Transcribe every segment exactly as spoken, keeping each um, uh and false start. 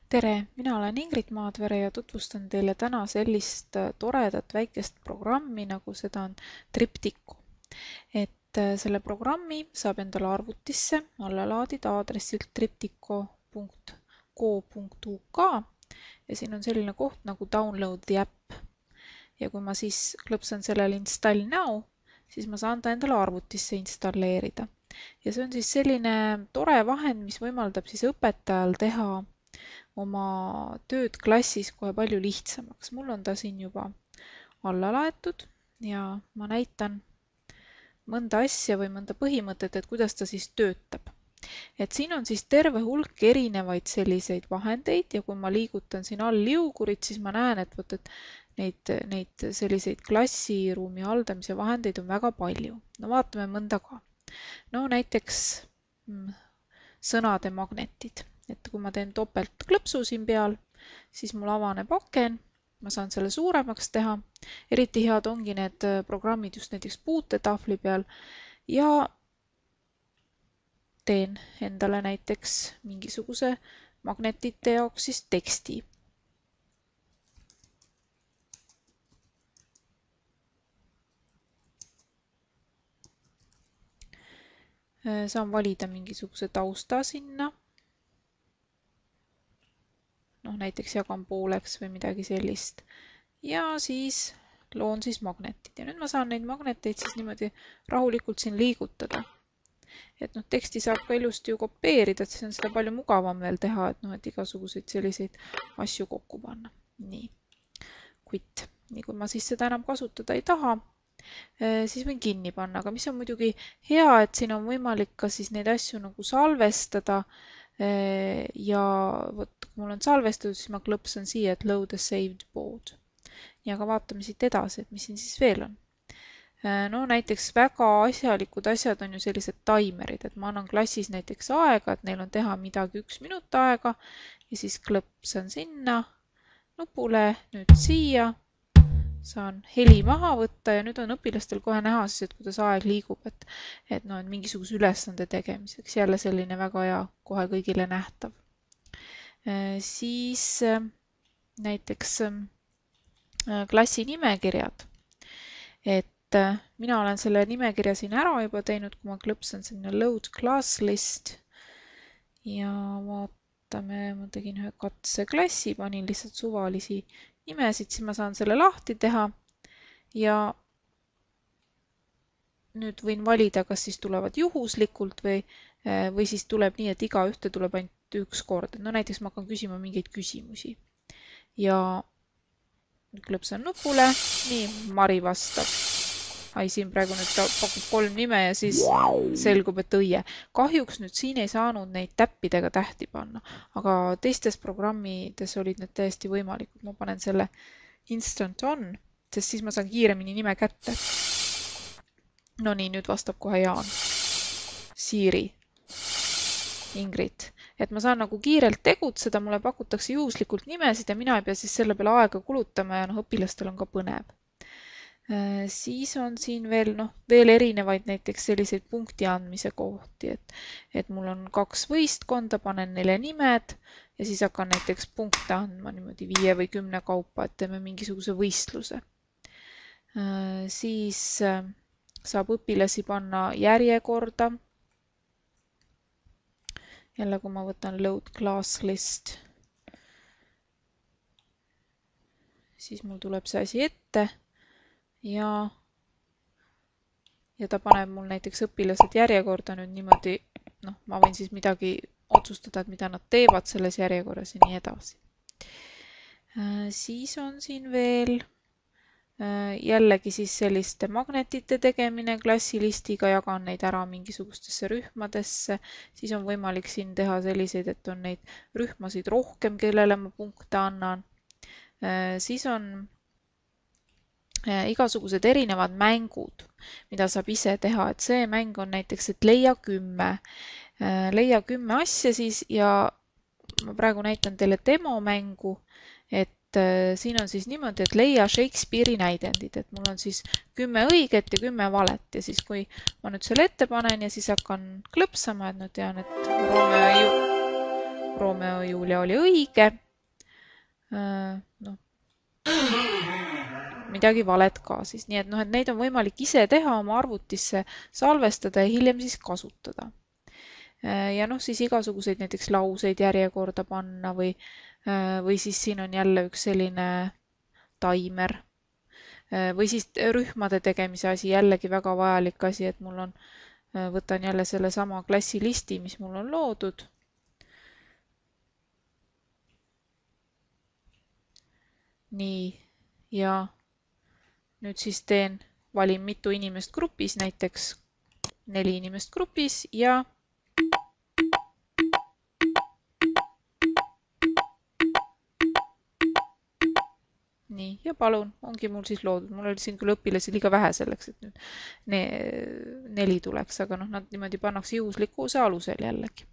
tere, mina olen Ingrid Maadvere ja tutvustan teile täna sellist toredat väikest programmi, nagu seda on Triptycho. Et selle programmi saab endale arvutisse alla laadida aadressilt triptycho punkt co punkt uk ja siin on selline koht nagu Download the app. Ja kui ma siis klõpsan sellele Install now, siis ma saan ta endale arvutisse installeerida. Ja see on siis selline tore vahend, mis võimaldab siis õpetajal teha oma tööd klassis kohe palju lihtsamaks. Mul on ta siin juba alla laetud ja ma näitan mõnda asja või mõnda põhimõtet, et kuidas ta siis töötab. Et siin on siis terve hulk erinevaid selliseid vahendeid ja kui ma liigutan siin all liugurit, siis ma näen, et, võt, et neid, neid selliseid klassiruumi haldamise vahendeid on väga palju. No vaatame mõnda ka. No näiteks mm, sõnade magnetid. Et kui ma teen topelt klõpsu siin peal, siis mul avaneb aken, ma saan selle suuremaks teha. Eriti head ongi need programmid just näiteks puutetahvli peal ja teen endale näiteks mingisuguse magnetite jaoks siis teksti. Saan valida mingisuguse tausta sinna. noh, näiteks jagan pooleks või midagi sellist. Ja siis loon siis magnetid. Ja nüüd ma saan neid magneteid siis niimoodi rahulikult siin liigutada. Et noh, teksti saab ka ilusti ju kopeerida, et siis on seda palju mugavam veel teha, et noh, et igasuguseid selliseid asju kokku panna. Nii. Quit. Nii kui ma siis seda enam kasutada ei taha, siis võin kinni panna. Aga mis on muidugi hea, et siin on võimalik ka siis neid asju nagu salvestada. Ja võt, kui mul on salvestatud, siis ma klõpsan siia, et load a saved board. Ja aga vaatame siit edasi, et mis siin siis veel on. No näiteks väga asjalikud asjad on ju sellised taimerid, et ma annan klassis näiteks aega, et neil on teha midagi üks minut aega ja siis klõpsan sinna nupule, nüüd siia, saan heli maha võtta ja nüüd on õpilastel kohe näha siis, et kuidas aeg liigub, et, et no, mingisuguse ülesande tegemiseks. Jälle selline väga hea, kohe kõigile nähtav. Siis näiteks klassi nimekirjad. Et mina olen selle nimekirja siin ära juba teinud, kui ma klõpsan sinna load class list ja vaatame, ma tegin ühe katseklassi, panin lihtsalt suvalisi nimesid, siis ma saan selle lahti teha ja nüüd võin valida, kas siis tulevad juhuslikult või, või siis tuleb nii, et iga ühte tuleb ainult üks kord. No näiteks ma hakkan küsima mingeid küsimusi ja klõpsan nupule, nii Mari vastab. Ai, siin praegu nüüd ta pakub kolm nime ja siis selgub, et õie. Kahjuks nüüd siin ei saanud neid täppidega tähti panna, aga teistes programmides olid need täiesti võimalikud. Ma panen selle instant on, sest siis ma saan kiiremini nime kätte. No nii, nüüd vastab kohe Jaan. Siiri. Ingrid. Et ma saan nagu kiirelt tegutseda, mulle pakutakse juhuslikult nimesid ja mina ei pea siis selle peale aega kulutama ja noh, õpilastel on ka põnev. Siis on siin veel, noh, veel erinevaid näiteks selliseid punkti andmise kohti, et, et mul on kaks võistkonda, panen neile nimed ja siis hakkan näiteks punkte andma niimoodi viie või kümne kaupa, et teeme mingisuguse võistluse. Siis saab õpilasi panna järjekorda. Jälle, kui ma võtan load class list, siis mul tuleb see asi ette. Ja, ja ta paneb mul näiteks õpilased järjekorda nüüd niimoodi, noh, ma võin siis midagi otsustada, et mida nad teevad selles järjekorras ja nii edasi. Siis on siin veel jällegi siis selliste magnetite tegemine klassilistiga, jagan neid ära mingisugustesse rühmadesse. Siis on võimalik siin teha selliseid, et on neid rühmasid rohkem, kellele ma punkte annan. Siis on igasugused erinevad mängud, mida saab ise teha, et see mäng on näiteks, et leia kümme. Leia kümme asja siis ja ma praegu näitan teile demomängu, et siin on siis niimoodi, et leia Shakespeare'i näidendid, et mul on siis kümme õiget ja kümme valet ja siis kui ma nüüd selle ette panen ja siis hakkan klõpsama, et nüüd tean, et Romeo ja Romeo ja Julia oli õige. Noh, midagi valet ka siis, nii et noh, et neid on võimalik ise teha, oma arvutisse salvestada ja hiljem siis kasutada. Ja noh, siis igasuguseid näiteks lauseid järjekorda panna või, või siis siin on jälle üks selline taimer. Või siis rühmade tegemise asi, jällegi väga vajalik asi, et mul on, võtan jälle selle sama klassilisti, mis mul on loodud. Nii, ja nüüd siis teen, valin mitu inimest grupis, näiteks neli inimest grupis ja nii, ja palun, ongi mul siis loodud. Mul oli siin küll õpilasi liiga vähe selleks, et nüüd ne neli tuleks, aga noh, nad niimoodi pannakse juhuslikkuse alusel jällegi.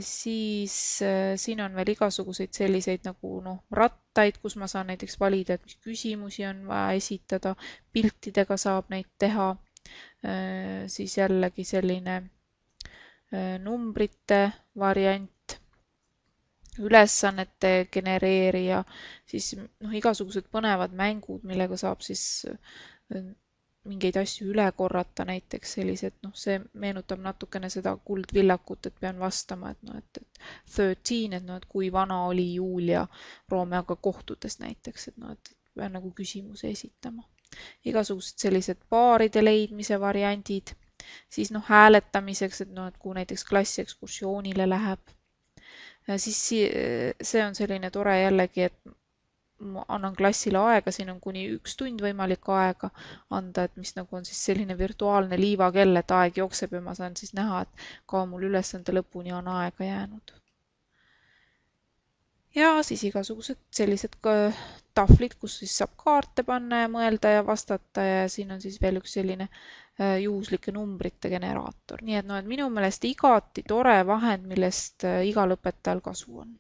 Siis siin on veel igasuguseid selliseid nagu noh, rattaid, kus ma saan näiteks valida, et mis küsimusi on vaja esitada. Piltidega saab neid teha. Siis jällegi selline numbrite variant. Ülesannete genereerija, siis noh, igasugused põnevad mängud, millega saab siis mingeid asju üle korrata, näiteks sellised, noh, see meenutab natukene seda kuldvillakut, et pean vastama, et noh, et, et thirteen, et noh, et kui vana oli Julia Romeoga kohtudes näiteks, et noh, et pean nagu küsimuse esitama. Igasugused sellised paaride leidmise variandid, siis noh, hääletamiseks, et noh, et kui näiteks klassi ekskursioonile läheb. Siis see on selline tore jällegi, et ma annan klassile aega, siin on kuni üks tund võimalik aega anda, et mis nagu on siis selline virtuaalne liivakell, et aeg jookseb ja ma saan siis näha, et ka mul ülesande lõpuni on aega jäänud. Ja siis igasugused sellised tahvlid, kus siis saab kaarte panna ja mõelda ja vastata ja siin on siis veel üks selline juhuslike numbrite generaator. Nii et noh, et minu meelest igati tore vahend, millest igal õpetajal kasu on.